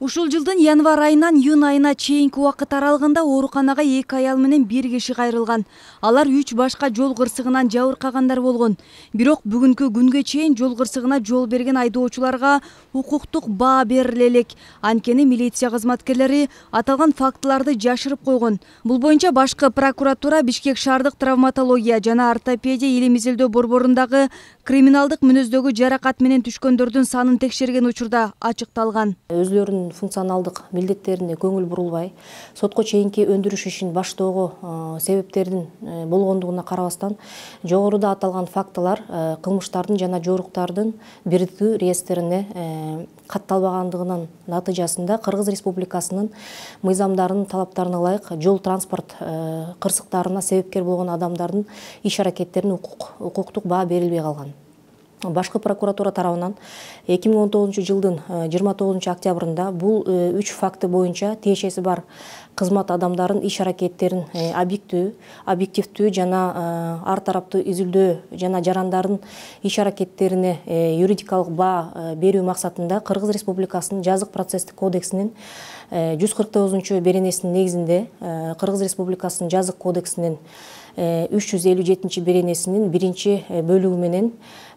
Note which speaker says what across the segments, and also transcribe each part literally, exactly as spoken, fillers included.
Speaker 1: Ушул жылдын январь айынан июнь айына чейинки убакыт аралыгында ооруканага эки аял менен бир киши кайрылган. Алар үч башка жол кырсыгынан жабыркагандар болгон. Бирок бүгүнкү күнгө чейин жол кырсыгына жол берген айдоочуларга укуктук баа бериле элек. Анткени милиция кызматкерлери аталган фактыларды жашырып койгон. Бул боюнча башкы прокуратура Бишкек шаардык травматология жана ортопедия илим изилдөө борборундагы криминалдык мүнөздөгү жаракат менен түшкөндөрдүн санын текшерген учурда ачыкталган.
Speaker 2: Өзлөрүнүн функционалдык милдеттерине көңүл бурулбай, сотко чейинки өндүрүш ишин баштоого себептердин болгондугуна карабастан, жогоруда аталган фактылар кылмыштардын жана жоруктардын бирдиктүү реестрине катталбагандыгынын натыйжасында Кыргыз Республикасынын мыйзамдарынын талаптарына ылайык жол транспорт кырсыктарына себепкер болгон адамдардын иш аракеттерине укуктук баа берилбей калган. Башкы прокуратура тарабынан эки миң он тогузунчу жылдын жыйырма тогузунчу октябрында бул үч факты боюнча тиешеси бар кызмат адамдарын иш аракеттерин объективдүү, объективдүү жана ар тараптуу изилдөө жана жарандардын иш аракеттерине юридикалык баа берүү максатында Кыргыз Республикасынын жазык процесстик кодексинин жүз кырк тогузунчу беренесинин негизинде Кыргыз Республикасынын жазык кодексинин үч жүз элүү жетинчи беренесинин биринчи бөлүгү менен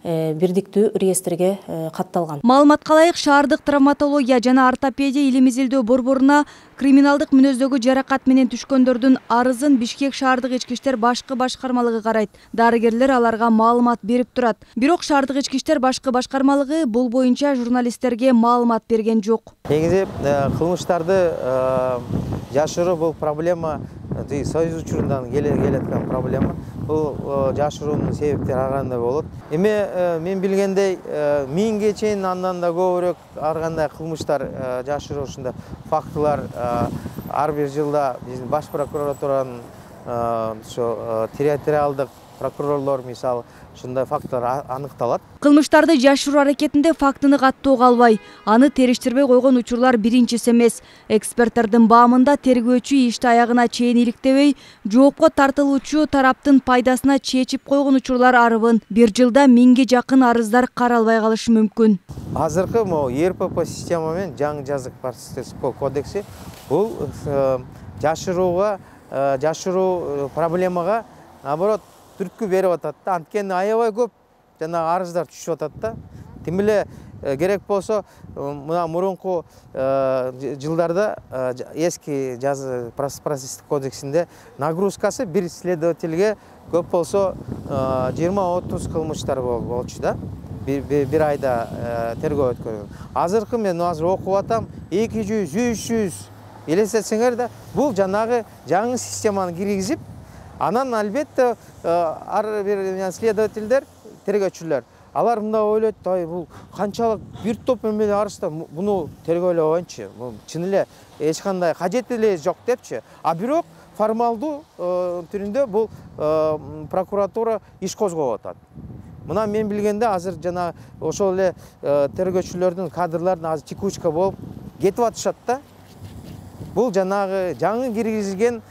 Speaker 2: бирдиктүү реестрге катталган.
Speaker 1: Маалыматка ылайык, шаардык травматология жана ортопедия илим изилдөө борборуна криминалдык мүнөздөгү жаракат менен түшкөндөрдүн арызын Бишкек шаардык ички иштер башкы башкармалыгы карайт. Дарыгерлер аларга маалымат берип турат. Бирок шаардык ички иштер башкы башкармалыгы бул боюнча журналисттерге маалымат берген жок.
Speaker 3: Негизи кылмыштарды жашыруу бул проблема союз учурундан келаткан проблема. Бул жашыруунун себептери ар кандай болот. Эми мен билгендей миңге чейин андан да көбүрөөк ар кандай кылмыштар жашыруу ушундай фактылар ар бир жылда биздин баш прокуратуранын ошо территориалдык прокурорлор мисалы ушундай фактылар аныкталат.
Speaker 1: Кылмыштарды жашыруу аракетинде фактыны каттоого албай, аны териштирбей койгон учурлар биринчиси эмес. Эксперттердин баамында тергөөчү ишти аягына чейин иликтебей, жоопко тартылуучу тараптын пайдасына чечип койгон учурлар арыбын. Бир жылда миңге жакын арыздар каралбай калышы мүмкүн.
Speaker 3: Азыркы могу Е Р П П система менен жаңы жазык процесстик кодекси бул жашырууга, жашыруу проблемага наоборот түрткү берип атат да. Анткени аябай көп жана арыздар түшүп атат да. Тим эле керек болсо мына мурунку жылдарда эски жазы процесстик кодексинде нагрузкасы бир следовательге көп болсо жыйырма отуз кылмыштар болчу да. Бир айда тергөө өткөргөн. Азыркы мен азыр окуп атам эки жүз, үч жүз элестетсеңер да, бул жанагы жаңы системаны киргизип, анан албетте ар бир следовательдер, тергөөчүлөр, алар мындай ойлойт, ай бул канчалык бир топ эмеле арызда муну тергөөлөп коеюнчу, чын эле эч кандай кажети эле жок депчи. А бирок формалдуу түрүндө бул прокуратура иш козгоп атат. Мына мен билгенде азыр жана ошол эле тергөөчүлөрдүн кадрлардын азыр текучка болуп кетип атышат да. Бул жанагы жаңы киргизилген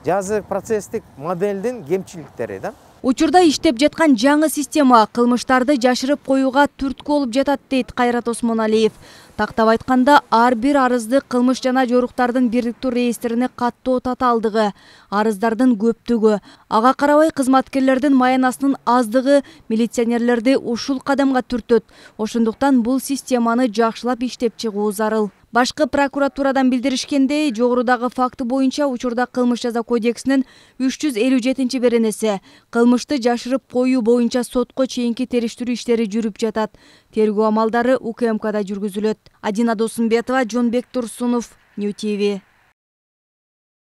Speaker 3: жазык процесстик моделдин кемчиликтери да.
Speaker 1: Учурда иштеп жаткан жаңы система кылмыштарды жашырып коюуга түрткү болуп жатат, дейт Кайрат Осмоналиев. Тактап айтканда, ар бир арызды кылмыш жана жоруктардын бирдиктүү реестрине каттоо татаалдыгы, арыздардын көптүгү, ага карабай кызматкерлердин маянасынын аздыгы милиционерлерди ушул кадамга түртөт. Ошондуктан бул системаны жакшылап иштеп чыгуу зарыл. Башкы прокуратурадан билдиришкендей, жогорудагы факты боюнча учурда кылмыш жаза кодексинин үч жүз элүү жетинчи беренеси кылмышты жашырып коюу боюнча сотко чейинки териштирүү иштери жүрүп жатат. Тергөө амалдары У К М Кда жүргүзүлөт. Адина Досумбетова, Жонбек Турсунов, Нью Ти Ви.